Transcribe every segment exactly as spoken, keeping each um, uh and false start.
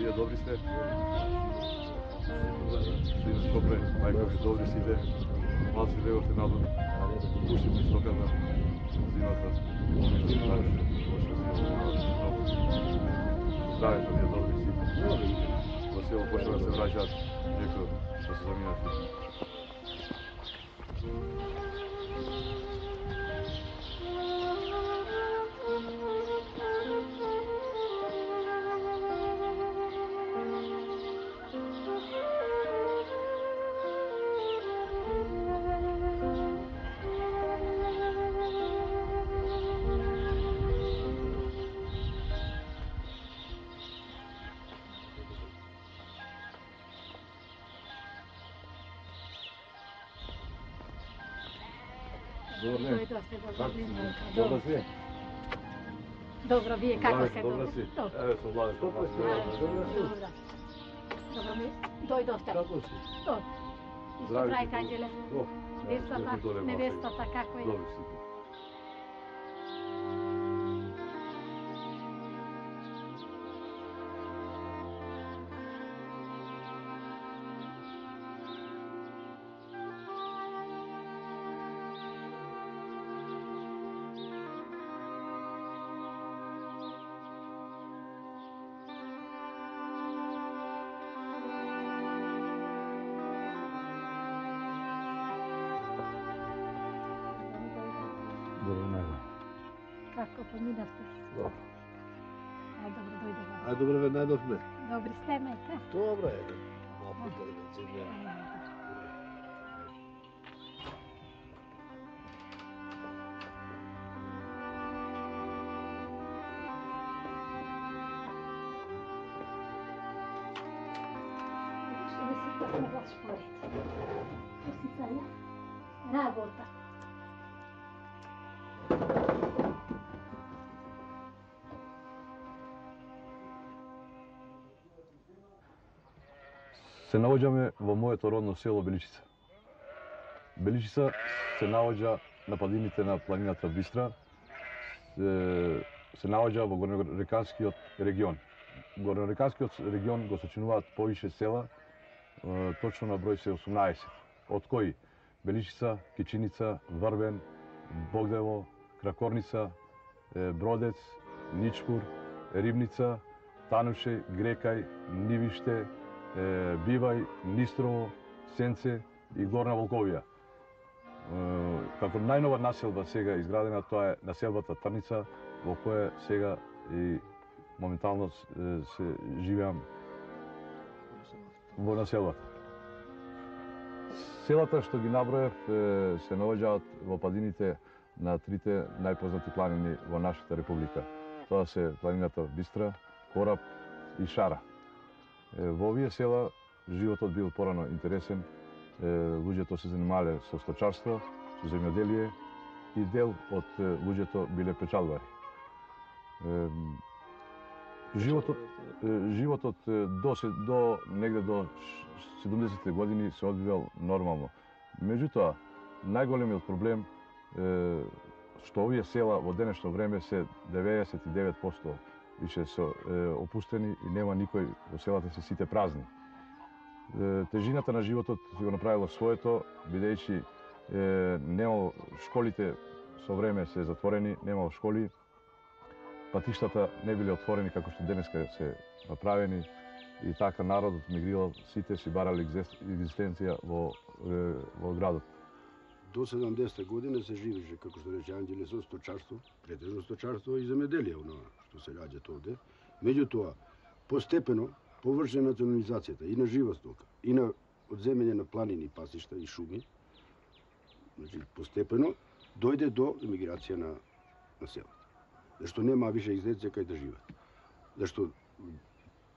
Вие добри сте? Сине Скопре, мајка ми добри сите. Малци леговте надвор. Пуштите стоката. Зимата. Здравето ви е добри сите. Во село почнува да се враќаат некои што се заминати. Добро си? Добро, вие како се? Добро си? Еве со Владе. Добро си? Добро ми дојдовте. Како си? Добро. И што правите, Анđеле? Невестата, невестата, како е? Добро си. Добро најдо. Како поминавте? Добро. Ај, добро дојдовме. Ај, добро ве најдовме. Добри сте, мајка? Добро е. Малку телевизија. Што ми се пасна ваш поред? Што си цаја? Работа. Се наоѓаме во моето родно село Беличица. Беличица се наоѓа на падините на планината Бистра, се, се наоѓа во Горнореканскиот регион. Горнореканскиот регион го сочинуваат повише села, точно на број се осумнаесет, од кои Беличица, Кичиница, Врвен, Богдево, Кракорница, Бродец, Ничпур, Рибница, Тануше, Грекај, Нивиште, Бивај, Нистрово, Сенце и Горна Волковија. Како најнова населба сега изградена, тоа е населбата Трница, во која сега и моментално се живеам во населбата. Селата што ги наброев се наоѓаат во падините на трите најпознати планини во нашата република. Тоа се планината Бистра, Кораб и Шара. Во овие села животот бил порано интересен, луѓето се занимале со сточарство, со земјоделие и дел од луѓето биле печалбари. Животот, животот до, до негде до седумдесетте години се одвивал нормално. Меѓутоа, најголемиот проблем што овие села во денешно време се деветдесет и девет проценти више се опустени и нема никој во селата, се сите празни. Тежината на животот си го направило своето, бидејќи немало школите со време се затворени, немало школи, патиштата не биле отворени како што денеска се направени и така народот мигрирал, сите си барали екзистенција во, во градот. До седумдесетте години се живеше, како што рече Анđеле, со сточарство, претежно сточарство и земјоделие, оно што се раѓа овде. Меѓутоа, постепено површи национализацијата и на жива стока, и на одземање на планини, пасишта и шуми. Значи, постепено дојде до емиграција на, на селата. Зашто нема више екзистенција кај да живеат. Зашто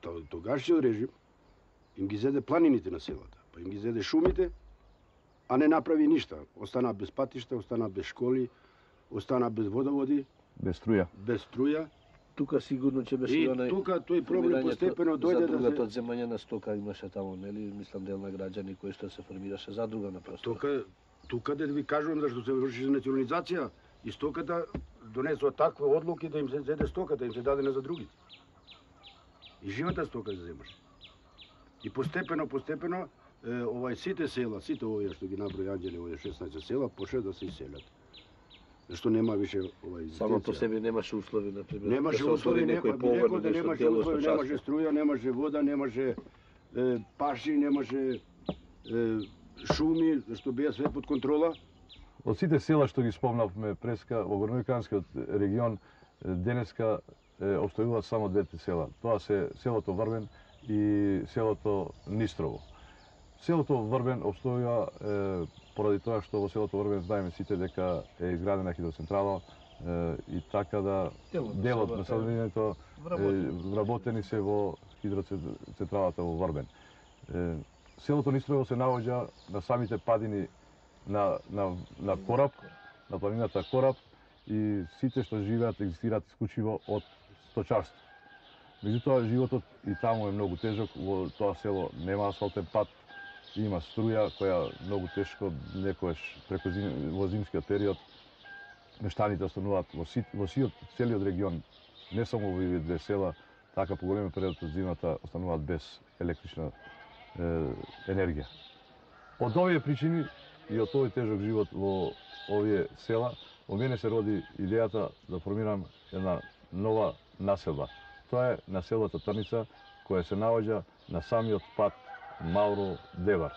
тогашниот режим им ги зеде планините на селата, па им ги зеде шумите, а не направи ништа. Остана без патишта, остана без школи, остана без водоводи, без струја. Без струја. Тука сигурно ќе беше и онај тука тој проблем постепено дојде да се одземање на стока имаше таму, нели? Мислам дел на граѓани кои што се формираше задруга на простор. Тука тука да ви кажувам зашто се врши национализација и стоката донесува такви одлуки да им се зеде стоката, им се даде за другите. И живата стока се земаше. И постепено, постепено, овај сите села, сите овие што ги наброи Анđеле, овие шеснаесет села, почне да се иселат. Зашто нема више овај Само по себе немаше услови, например. Немаше услови, некој погон, да немаше услови, немаше струја, немаше вода, немаше е, паши, немаше е, шуми, зашто беа све под контрола. Од сите села што ги спомнавме преска во Горнојаканскиот регион, денеска обстојуваат само двете села. Тоа се селото Врбен и селото Нистрово. Селото Врбен обстојува е, поради тоа што во селото Врбен знаеме сите дека е изградена хидроцентрала е, и така да дел од населението вработени се во хидроцентралата во Врбен. Е, селото Нистрово се наоѓа на самите падини на, на, на Кораб, на планината Кораб, и сите што живеат екзистираат исклучиво од сточарство. Меѓутоа животот и таму е многу тежок, во тоа село нема асфалтен пат, има струја која многу тешко некојаш преку зим, во зимскиот период мештаните остануваат во, си, во сиот целиот регион, не само во овие две села, така по големиот период од зимата остануваат без електрична е, енергија. Од овие причини и од овој тежок живот во овие села, во мене се роди идејата да формирам една нова населба. Тоа е населбата Трница, која се наоѓа на самиот пат Мавро-Девар.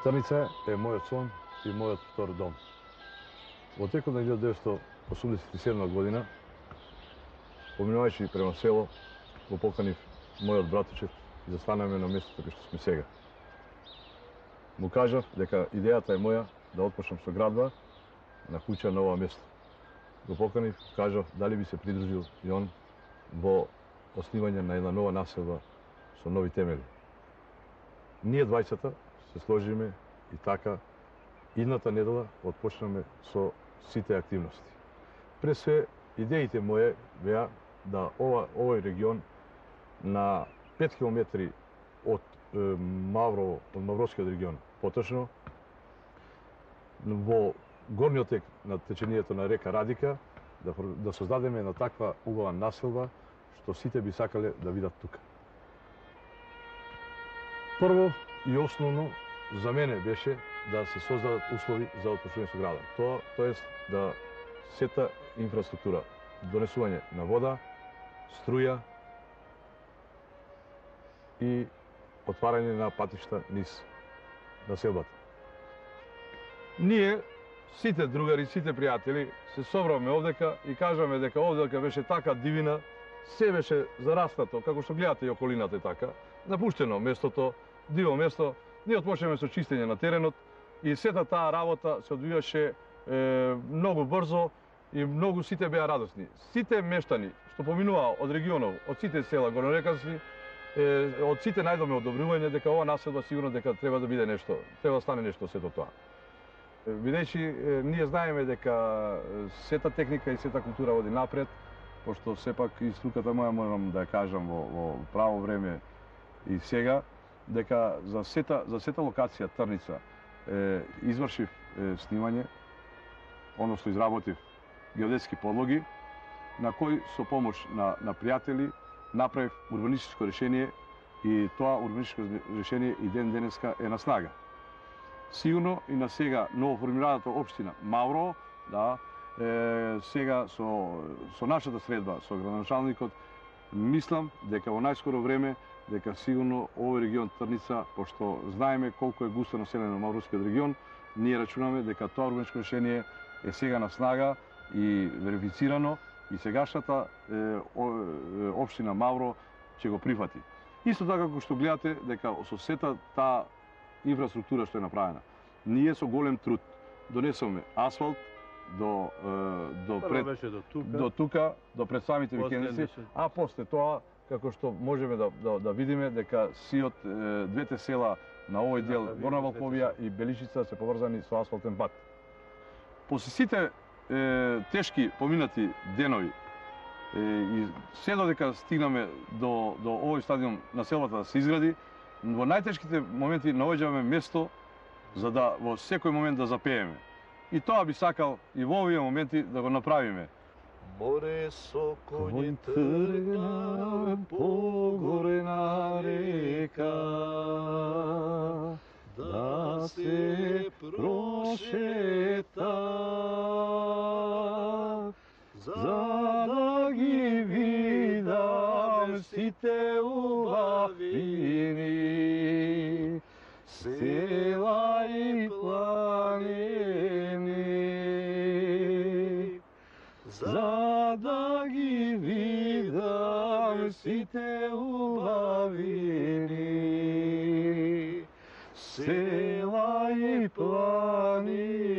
Трница е мојот сон и мојот втор дом. Во текот на илјадесет деветстотини осумдесет и седма година, поминувајќи према село, го поканив мојот братучев и застанаме на местото кај што сме сега. Му кажав дека идејата е моја да отпочнам со градба на куќа на ова место. Го поканив, кажав дали би се придружил и он во основање на една нова населба со нови темели. Ние двајцата се сложиме и така идната недела отпочнаме со сите активности. Пред се, идеите моје беа да ова, овој регион на пет километри од е, Мавро, од Мавровскиот регион, поточно, во горниот тек на течението на река Радика, да, да создадеме една таква убава населба, што сите би сакале да видат тука. Прво и основно за мене беше да се создадат услови за отпочнување со градот. Тоа, тоест да сета инфраструктура, донесување на вода, струја и отварање на патишта низ населбата. Ние, сите другари, сите пријатели, се собравме овдека и кажаме дека овдека беше така дивина, се беше зарастато, како што гледате и околината е така, напуштено местото, диво место. Ние отпочнеме со чистење на теренот и сета таа работа се одвиваше е, многу брзо и многу сите беа радосни. Сите мештани што поминуваа од регионов, од сите села горнојакански, е, од сите најдоме одобрување дека ова населба сигурно дека треба да биде нешто, треба да стане нешто сето тоа. Бидејќи ние знаеме дека сета техника и сета култура води напред, пошто сепак и струката моја морам да ја кажам во, во право време и сега, дека за сета, за сета локација Трница е, извршив е, снимање, односно изработив геодетски подлоги, на кои со помош на, на пријатели направив урбанистичко решение и тоа урбанистичко решение и ден денеска е на снага. Сигурно и на сега новоформираната општина Маврово, да, е, сега со, со нашата средба, со градоначалникот, мислам дека во најскоро време, дека сигурно овој регион Трница, пошто знаеме колку е густо населен на Мавровскиот регион, ние рачунаме дека тоа урбанистичко решение е сега на снага и верифицирано и сегашната е, о, е, општина Мавро ќе го прифати. Исто така како што гледате дека со сета таа инфраструктура што е направена. Ние со голем труд донесоме асфалт до до пред до тука, до тука, до пред самите викендици, а после тоа како што можеме да да, да видиме дека сиот двете села на овој дел Горна Валковија и Беличица се поврзани со асфалтен пат. После сите е, тешки поминати денови е, и се додека стигнаме до до овој стадиум на селата да се изгради, во најтешките моменти наоѓаме место за да во секој момент да запееме. И тоа би сакал и во овие моменти да го направиме. Море со коњи тргна по горена река, да се прошета, за да ги видам сите убавини, села и планини, за да ги видам сите убавини, села и планини.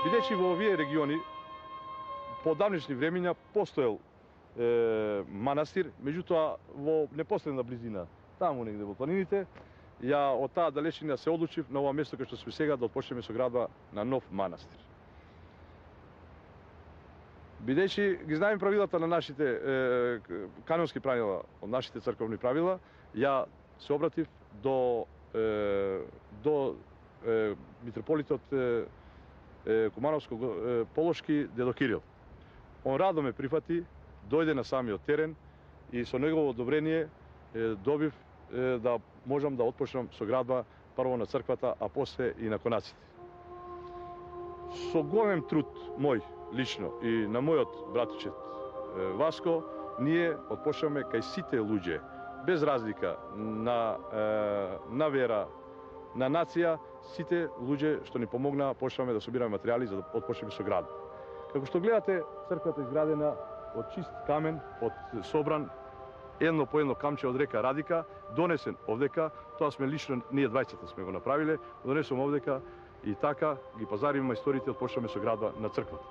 Бидејќи во овие региони по давнишни времиња постоел е, манастир, меѓутоа во непосредна близина, таму негде во планините, ја од таа далечина се одлучив на ова место кај што сме сега да отпочнеме со градба на нов манастир. Бидејќи ги знаеме правилата на нашите е, канонски правила, од нашите црковни правила, ја се обратив до е, до е, митрополитот е, Кумановско-Полошки дедо Кирил. Он радо ме прифати, дојде на самиот терен и со негово одобрение добив да можам да отпочнам со градба прво на црквата, а после и на конаците. Со голем труд мој лично и на мојот братичет Васко, ние отпочнаме кај сите луѓе, без разлика на, на вера, на нација, сите луѓе што ни помогнаа, почнавме да собираме материјали за да отпочнеме со градба. Како што гледате, црквата е изградена од чист камен, од собран едно по едно камче од река Радика, донесен овдека, тоа сме лично, ние двајцата сме го направиле, донесем овдека и така ги пазариме мајсторите, отпочнаме со градба на црквата.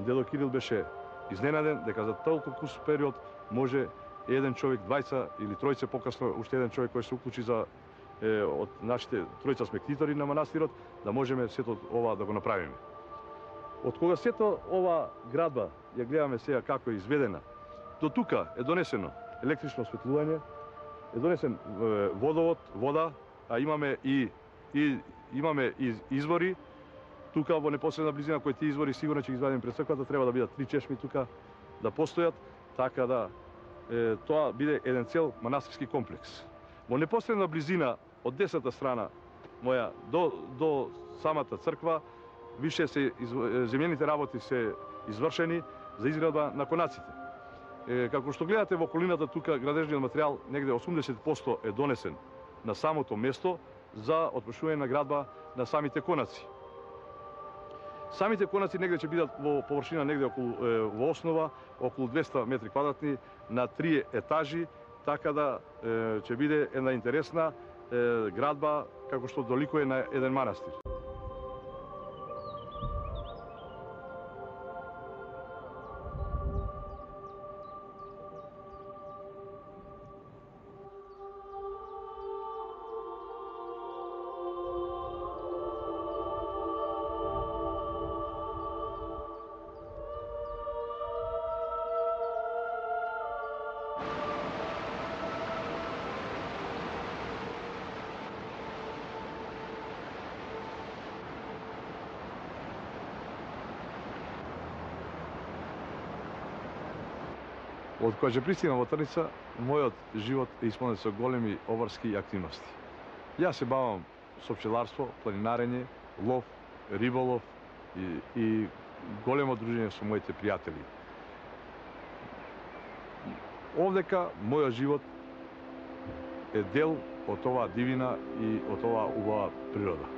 Дедо Кирил беше изненаден дека за толку кус период може еден човек, двајца или тројца покасно, уште еден човек кој се уклучи за е, од нашите тројца сме ктитори на манастирот, да можеме сето ова да го направиме. Од кога сето ова градба ја гледаме сега како е изведена, до тука е донесено електрично осветлување, е донесен е, водовод, вода, а имаме и, и имаме и извори. Тука во непосредна близина кои тие извори сигурно ќе ги извадиме пред црквата, треба да бидат три чешми тука да постојат, така да е, тоа биде еден цел манастирски комплекс. Во непосредна близина од десната страна моја до до самата црква више се земјените работи се извршени за изградба на конаците. Е, како што гледате во околината тука градежниот материјал негде осумдесет проценти е донесен на самото место за отпушување на градба на самите конаци. Самите конаци негде ќе бидат во површина негде околу е, во основа околу двесте метри квадратни на три етажи, така да е, ќе биде една интересна е, градба како што доликува на еден манастир. Од кога ќе пристигнам во Трница, мојот живот е исполнет со големи обарски активности. Јас се бавам со пчеларство, планинарење, лов, риболов и, и големо дружење со моите пријатели. Овдека мојот живот е дел од оваа дивина и од оваа убава природа.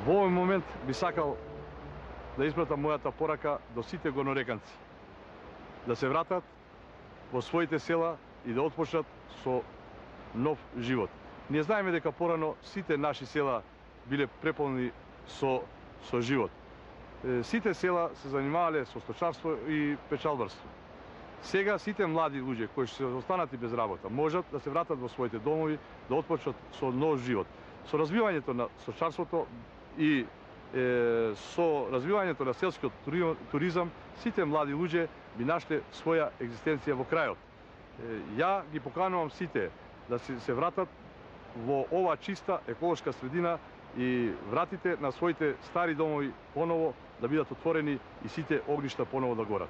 Во овој момент би сакал да испратам мојата порака до сите горнореканци, да се вратат во своите села и да отпочнат со нов живот. Ние знаеме дека порано сите наши села биле преполни со, со живот. Сите села се занимавале со сточарство и печалбарство. Сега сите млади луѓе кои се останати без работа можат да се вратат во своите домови, да отпочнат со нов живот. Со развивањето на сточарството и е, со развивањето на селскиот туризам, сите млади луѓе би нашле своја екзистенција во крајот. Е, ја ги поканувам сите да се, се вратат во ова чиста еколошка средина и вратите на своите стари домови поново да бидат отворени и сите огништа поново да горат.